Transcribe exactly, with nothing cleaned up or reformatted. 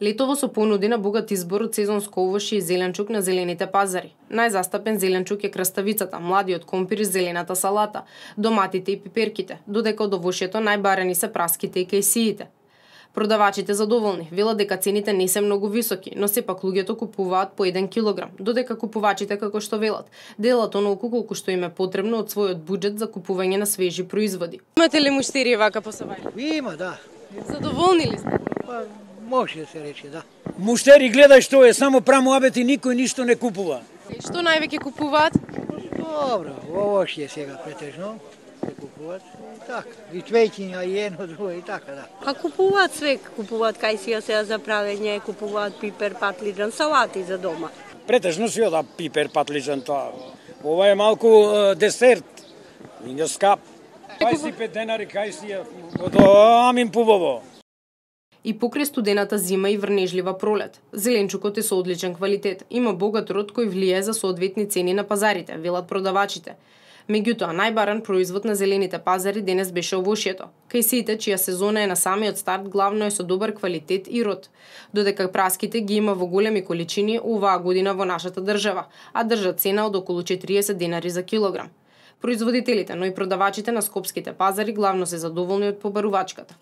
Летово со понуди на богат избор од сезонско овошје и зеленчук на зелените пазари. Најзастапен зеленчук е краставицата, младиот компир и зелената салата, доматите и пиперките, додека од овошјето најбарани се праските и кајсиите. Продавачите задоволни, велат дека цените не се многу високи, но сепак луѓето купуваат по еден килограм, додека купувачите, како што велат, делат онолку колку што им е потребно од својот буџет за купување на свежи производи. Имате ли муштери вака по Савајле? Има, да. Задоволни ли сте? Па, може да се рече, да. Муштери гледај што е, само прамуабет и никој ништо не купува. И што највеќе купуваат? Добро, овошје сега претежно се купуваат. И така, и цвеќиња, и едно, друго, и така, да. Па купуваат све, купуваат кајсија сега за правење, купуваат пипер, патлиџан, салати за дома. Претежно си ода пипер, патлиџан, тоа. Ова е малку е, десерт, и не скап. дваесет и пет денари кајсија, амин пубаво. И покрај студената зима и врнежлива пролет, зеленчукот е со одличен квалитет. Има богат род кој влијае за соодветни цени на пазарите, велат продавачите. Меѓутоа, најбаран производ на зелените пазари денес беше овошјето. Кајсиите, чија сезона е на самиот старт, главно е со добар квалитет и род. Додека праските ги има во големи количини оваа година во нашата држава, а држат цена од околу четириесет денари за килограм. Производителите, но и продавачите на скопските пазари главно се задоволни од побарувачката.